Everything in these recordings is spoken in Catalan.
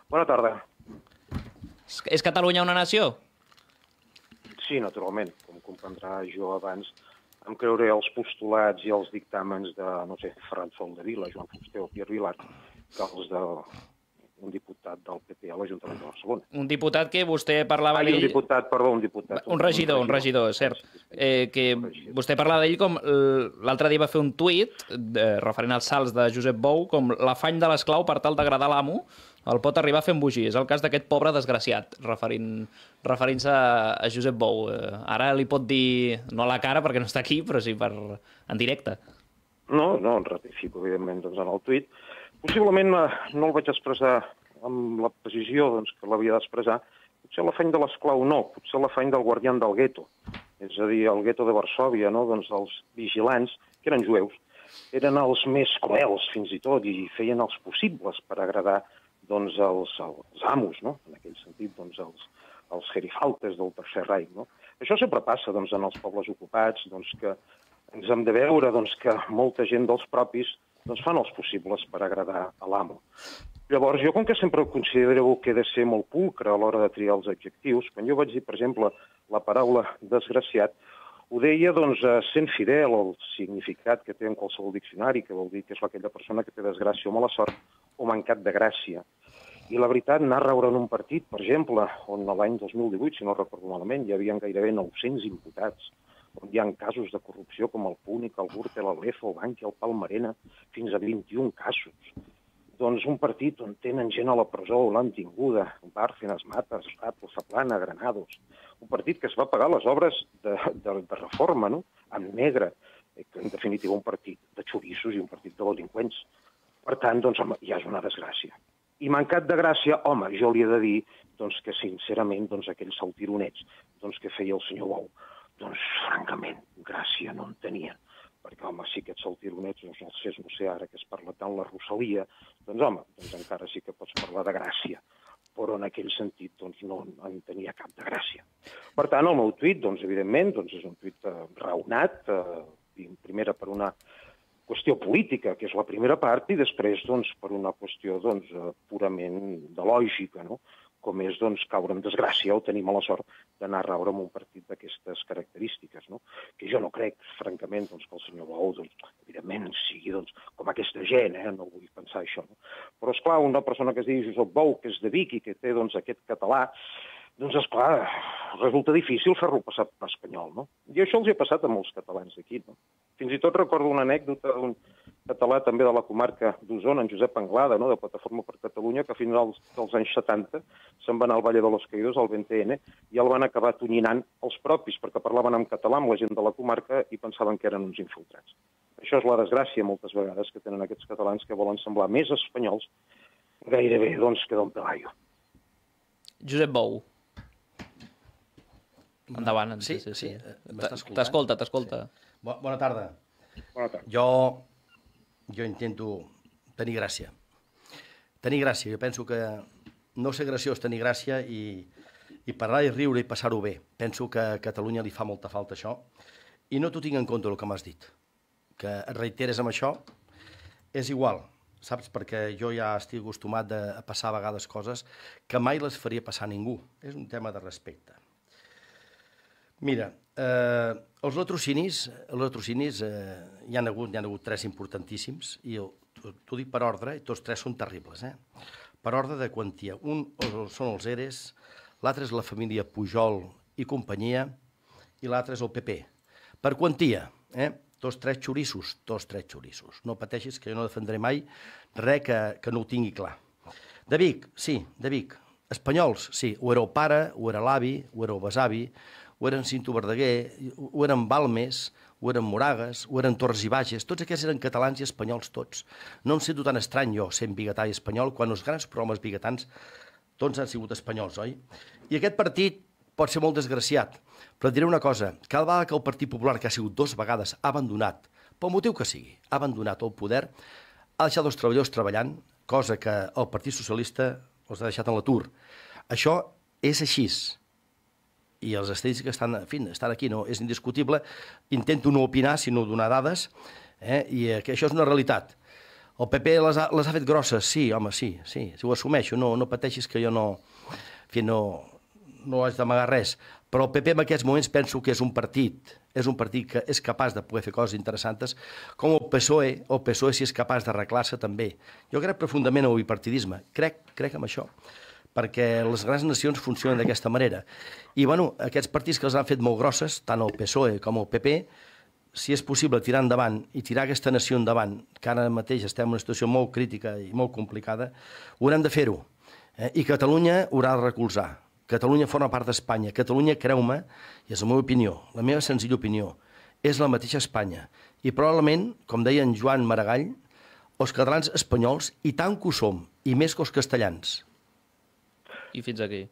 Bona tarda. És Catalunya una nació? Sí, naturalment. Com comprendrà, jo abans em creuré els postulats i els dictàmens de, no sé, Ferran Soldevila, Joan Fuster o Pierre Vilar, que els d'un diputat del PP a l'Ajuntament de Barcelona. Un diputat que vostè parlava d'ell... Un diputat, perdó, un diputat. Un regidor, cert. Que vostè parlava d'ell com l'altre dia va fer un tuit referent als salts de Josep Bou, com l'afany de l'esclau per tal d'agradar l'amo el pot arribar a fer embogir. És el cas d'aquest pobre desgraciat, referint-se a Josep Bou. Ara li pot dir, no a la cara perquè no està aquí, però sí en directe. No, em ratifico, evidentment, doncs, en el tuit. Possiblement no el vaig expressar amb la precisió que l'havia d'expressar. Potser l'afany de l'esclau no, potser l'afany del guardián del gueto. És a dir, el gueto de Varsòvia, no? Doncs els vigilants, que eren jueus, eren els més cruels, fins i tot, i feien els possibles per agradar doncs, els amos, no? En aquell sentit, doncs, els gerifaltes del Tercer Reich. No? Això sempre passa doncs, en els pobles ocupats, doncs, que ens hem de veure doncs, que molta gent dels propis doncs, fan els possibles per agradar a l'amo. Llavors, jo com que sempre considero que he de ser molt pulcre a l'hora de triar els adjectius, quan jo vaig dir, per exemple, la paraula desgraciat, ho deia doncs, sent fidel al significat que té en qualsevol diccionari, que vol dir que és aquella persona que té desgràcia o mala sort o mancat de gràcia. I la veritat, anar a veure en un partit, per exemple, on l'any 2018, si no recordo malament, hi havia gairebé 900 imputats, on hi ha casos de corrupció com el Púnic, el Gürtel, el Lezo, el Bankia, el Palmarena, fins a 21 casos. Doncs un partit on tenen gent a la presó, l'han tinguda, Bárcenas, Matas, Rato, Zaplana, Granados. Un partit que es va pagar les obres de reforma, no? En negre. En definitiva, un partit de xorissos i un partit de delinqüents. Per tant, doncs, home, ja és una desgràcia. I mancat de gràcia, home, jo li he de dir doncs, que, sincerament, doncs, aquells saltironets doncs, que feia el senyor Bou, doncs, francament, gràcia no en tenien. Perquè, home, sí, aquests saltironets, doncs, els fes, no sé, ara que es parla tant la Rosalia, doncs, home, doncs encara sí que pots parlar de gràcia, però en aquell sentit, doncs, no en tenia cap de gràcia. Per tant, el meu tuit, doncs, evidentment, doncs, és un tuit raonat, primera per una qüestió política, que és la primera part, i després, doncs, per una qüestió, doncs, purament de lògica, no?, com és doncs, caure en desgràcia o tenir mala sort d'anar a raure en un partit d'aquestes característiques. No? Que jo no crec, francament, doncs, que el senyor Bou, doncs, evidentment, sigui doncs, com aquesta gent, no vull pensar això. No? Però, esclar, una persona que es diu Josep Bou, que és de Vic i que té doncs, aquest català, doncs, esclar, resulta difícil fer-lo passar per espanyol. No? I això els ha passat a molts catalans d'aquí. No? Fins i tot recordo una anècdota d'un català també de la comarca d'Osona, en Josep Anglada, no? De Plataforma per Catalunya, que fins als anys 70 se'n va anar al Valle de los Caídos, al BNTN, i el van acabar tonyinant els propis, perquè parlaven en català amb la gent de la comarca i pensaven que eren uns infiltrats. Això és la desgràcia, moltes vegades, que tenen aquests catalans que volen semblar més espanyols gairebé, doncs, que Don Pelayo. Josep Bou. Endavant. Sí. T'escolta. Sí. Bona tarda. Bona tarda. Jo intento tenir gràcia. Tenir gràcia. Jo penso que no ser graciós, tenir gràcia i parlar i riure i passar-ho bé. Penso que a Catalunya li fa molta falta això. I no t'ho tinc en compte el que m'has dit. Que et reiteres amb això, és igual, saps? Perquè jo ja estic acostumat a passar a vegades coses que mai les faria passar a ningú. És un tema de respecte. Mira, els latrocinis hi ha hagut tres importantíssims i t'ho dic per ordre i tots tres són terribles. Per ordre de quantia. Un són els ERES, l'altre és la família Pujol i companyia i l'altre és el PP. Per quantia, tots tres xorissos. No pateixis que jo no defendré mai res que no ho tingui clar. De Vic, sí, de Vic. Espanyols, sí. O era el pare, o era l'avi, o era el besavi, o eren Cinto Verdaguer, o eren Balmes, o eren Moragues, o eren Torres i Bages. Tots aquests eren catalans i espanyols tots. No em sento tan estrany jo sent biguetà i espanyol quan els grans programes biguetans tots han sigut espanyols, oi? I aquest partit pot ser molt desgraciat, però et diré una cosa, cada vegada que el Partit Popular, que ha sigut 2 vegades, ha abandonat, pel motiu que sigui, ha abandonat el poder, ha deixat els treballadors treballant, cosa que el Partit Socialista els ha deixat en l'atur. Això és així. I els estadístics estan aquí, no? És indiscutible. Intento no opinar, sinó donar dades, i que això és una realitat. El PP les ha fet grosses, sí, home, sí, ho assumeixo, no pateixis que jo no haig d'amagar res, però el PP en aquests moments penso que és un partit que és capaç de poder fer coses interessants, com el PSOE si és capaç d'arreglar-se també. Jo crec profundament en el bipartidisme, crec en això, perquè les grans nacions funcionen d'aquesta manera. I, bueno, aquests partits que les han fet molt grosses, tant el PSOE com el PP, si és possible tirar endavant i tirar aquesta nació endavant, que ara mateix estem en una situació molt crítica i molt complicada, haurem de fer-ho. I Catalunya haurà de recolzar. Catalunya forma part d'Espanya. Catalunya, creu-me, i és la meva opinió, la meva senzilla opinió, és la mateixa Espanya. I probablement, com deia en Joan Maragall, els catalans espanyols, i tant que ho som, i més que els castellans. I fins aquí.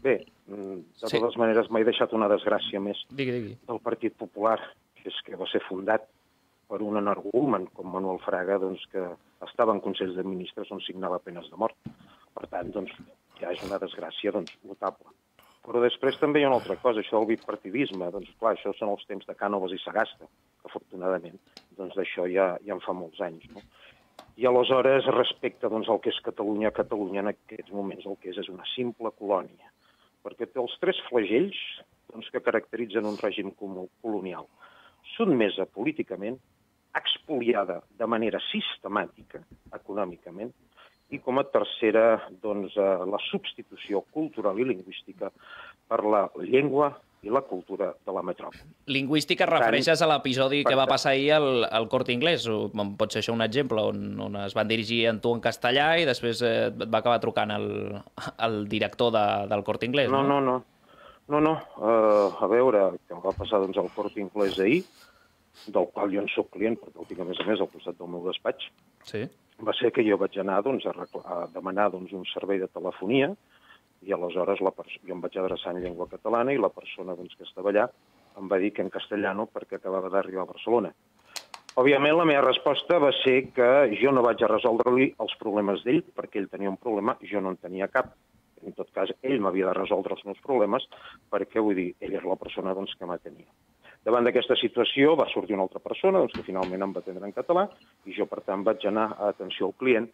Bé, de totes maneres m'he deixat una desgràcia més Digui. del Partit Popular, que és que va ser fundat per un energúmen com Manuel Fraga, doncs, que estava en Consells de Ministres on signava penes de mort. Per tant, doncs, ja és una desgràcia notable. Però després també hi ha una altra cosa, això del bipartidisme. Doncs, clar, això són els temps de Cànovas i Sagasta, que afortunadament doncs, d'això ja en fa molts anys. No? I aleshores, respecte doncs, al que és Catalunya en aquests moments el que és una simple colònia, perquè té els tres flagells doncs, que caracteritzen un règim colonial. Sotmesa políticament, expoliada de manera sistemàtica, econòmicament, i com a tercera, doncs, la substitució cultural i lingüística per la llengua i la cultura de la metròpoli. Lingüística refereixes a l'episodi que va passar ahir al Corte Inglés? Pot ser això un exemple on es van dirigir a tu en castellà i després et va acabar trucant el director del Corte Inglés, no? No. A veure, què em va passar doncs, al Corte Inglés ahir, del qual jo en soc client, perquè el tinc a més al costat del meu despatx, sí. Va ser que jo vaig anar doncs, a demanar doncs, un servei de telefonia i aleshores jo em vaig adreçar en llengua catalana i la persona doncs, que estava allà em va dir que en castellano perquè acabava d'arribar a Barcelona. Òbviament, la meva resposta va ser que jo no vaig a resoldre-li els problemes d'ell perquè ell tenia un problema, jo no en tenia cap. En tot cas, ell m'havia de resoldre els meus problemes perquè, vull dir, ell és la persona doncs, que m'atenia. Davant d'aquesta situació va sortir una altra persona doncs, que finalment em va atendre en català i jo, per tant, vaig anar a atenció al client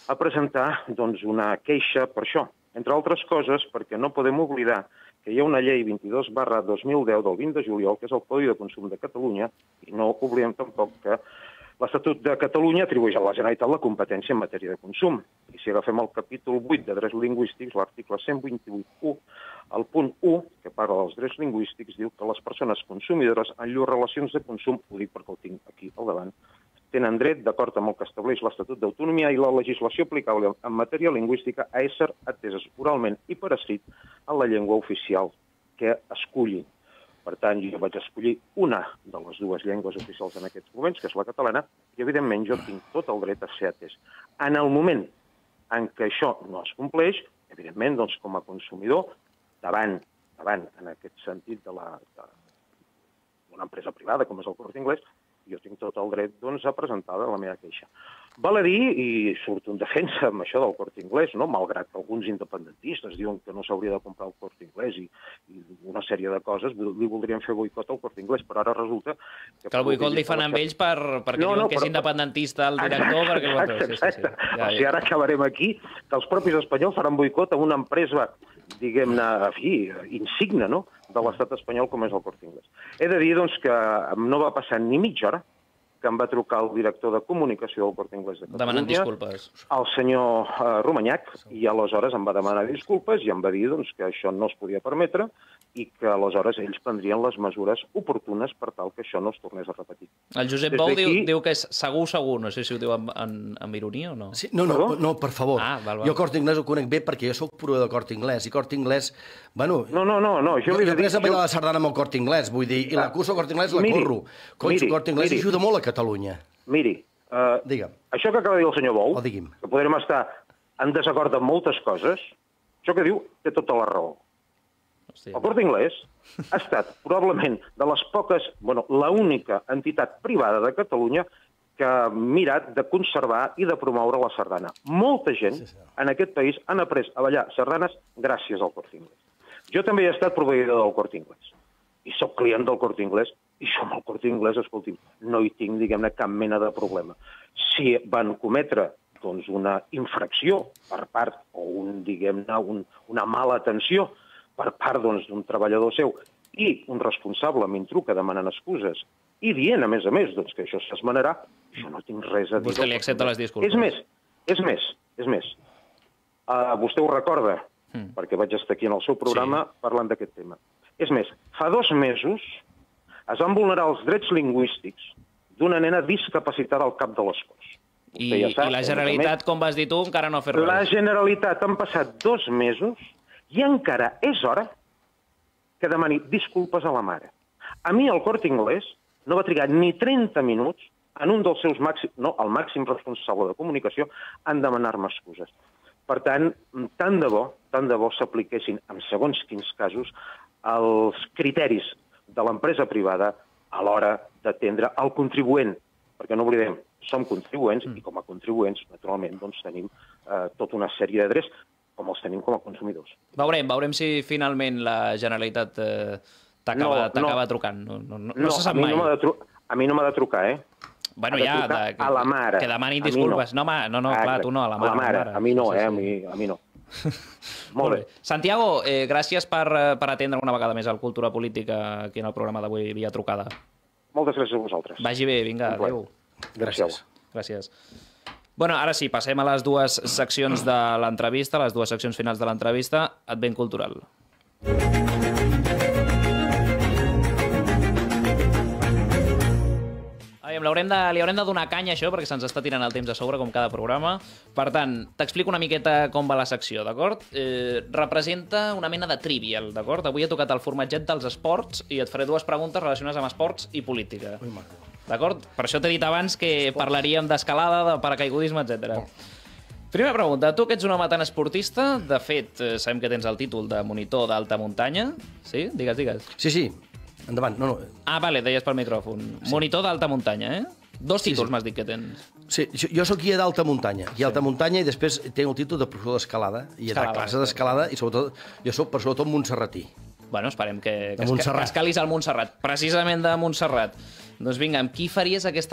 a presentar doncs, una queixa per això. Entre altres coses, perquè no podem oblidar que hi ha una llei 22/2010 del 20 de juliol, que és el Codi de Consum de Catalunya, i no oblidem tampoc que l'Estatut de Catalunya atribueix a la Generalitat la competència en matèria de consum. I si agafem el capítol 8 de drets lingüístics, l'article 128.1, el punt 1, que parla dels drets lingüístics, diu que les persones consumidores en llurs relacions de consum, ho dic perquè ho tinc aquí al davant, tenen dret, d'acord amb el que estableix l'Estatut d'Autonomia i la legislació aplicable en matèria lingüística, a ésser ateses oralment i per escrit en la llengua oficial que escullin. Per tant, jo vaig escollir una de les dues llengües oficials en aquests moments, que és la catalana, i evidentment jo tinc tot el dret a ser atès. En el moment en què això no es compleix, evidentment, doncs, com a consumidor, davant, en aquest sentit, d'una empresa privada, com és el Corte Inglés, jo tinc tot el dret doncs, a presentar la meva queixa. Val a dir, i surto en defensa amb això del Corte Inglés, no? Malgrat que alguns independentistes diuen que no s'hauria de comprar el Corte Inglés i una sèrie de coses, li voldrien fer boicot al Corte Inglés, però ara resulta... Que el boicot li fan amb ells perquè diuen que és independentista el director... Exacte. O sigui, ara acabarem aquí, que els propis espanyols faran boicot a una empresa, diguem-ne, insigne, no?, de l'estat espanyol com és el Corte Inglés. He de dir, doncs, que no va passar ni mitja hora que em va trucar el director de comunicació del Corte Inglés de Catalunya, demanant disculpes, el senyor Romanyac, i aleshores em va demanar disculpes i em va dir doncs, que això no es podia permetre i que aleshores ells prendrien les mesures oportunes per tal que això no es tornés a repetir. El Josep Bou diu que és segur, no sé si ho diu amb ironia o no. Sí, no, per favor. Val. Jo Corte Inglés ho conec bé perquè jo soc proveïdor de Corte Inglés i Corte Inglés, bueno... No. Jo he après a ballar la sardana amb el Corte Inglés, vull dir, i la cursa al Corte Inglés la corro. El Corte Inglés ajuda molt a Catalunya. Miri, això que acaba de dir el senyor Bou, que podrem estar en desacord amb moltes coses, això que diu té tota la raó. El Corte Inglés ha estat probablement de les poques, l'única entitat privada de Catalunya que ha mirat de conservar i de promoure la sardana. Molta gent en aquest país han après a ballar sardanes gràcies al Corte Inglés. Jo també he estat proveïdor del Corte Inglés i soc client del Corte Inglés I això amb el Corte Inglés, escolti'm, no hi tinc, diguem-ne, cap mena de problema. Si van cometre una infracció per part, o una mala atenció per part d'un treballador seu, i un responsable a mi em truca demanant excuses i dient, a més, que això s'esmenarà, jo no tinc res a dir. Vostè li accepta les disculpes. És més. Vostè ho recorda, perquè vaig estar aquí en el seu programa parlant d'aquest tema. És més, fa 2 mesos es van vulnerar els drets lingüístics d'una nena discapacitada al cap de les Corts. I la Generalitat, com vas dir tu, encara no ha fet res. La Generalitat han passat 2 mesos i encara és hora que demani disculpes a la mare. A mi el Corte Inglés no va trigar ni 30 minuts en un dels seus el màxim responsable de comunicació en demanar-me excuses. Per tant de bo s'apliquessin en segons quins casos els criteris de l'empresa privada a l'hora d'atendre el contribuent, perquè no oblidem, som contribuents i com a contribuents, naturalment, tenim tota una sèrie de drets com els tenim com a consumidors. Veurem si finalment la Generalitat t'acaba trucant. No se sap mai. A mi no m'ha de trucar, Bueno, ja, a la mare. Que demanin disculpes. No, clar, tu no, a la mare. A mi no, a mi no. Molt bé. Santiago, gràcies per atendre una vegada més el Cultura Política aquí en el programa d'avui via trucada. Moltes gràcies a vosaltres. Vagi bé, vinga, adéu. Gràcies. Bueno, ara sí, passem a les 2 seccions de l'entrevista, les 2 seccions finals de l'entrevista. Advent Cultural. Li haurem de donar canya a això perquè se'ns està tirant el temps a sobre com cada programa. Per tant, t'explico una miqueta com va la secció, d'acord? Representa una mena de trivial, d'acord? Avui he tocat el formatget dels esports i et faré 2 preguntes relacionades amb esports i política. D'acord? Per això t'he dit abans que parlaríem d'escalada, de paracaigudisme, etc. Primera pregunta. Tu que ets un home tan esportista, de fet, sabem que tens el títol de monitor d'alta muntanya. Sí? Digues. Sí. Endavant, no. Vale, deies pel micròfon. Sí. Monitor d'alta muntanya, 2 títols m'has dit que tens. Sí, jo soc guia d'alta muntanya. Guia d'alta muntanya i després tinc el títol de professor d'escalada. I de classe d'escalada i sobretot, jo soc sobretot montserratí. Bueno, esperem que escalis al Montserrat. Precisament de Montserrat. Doncs vinga, amb qui faries aquesta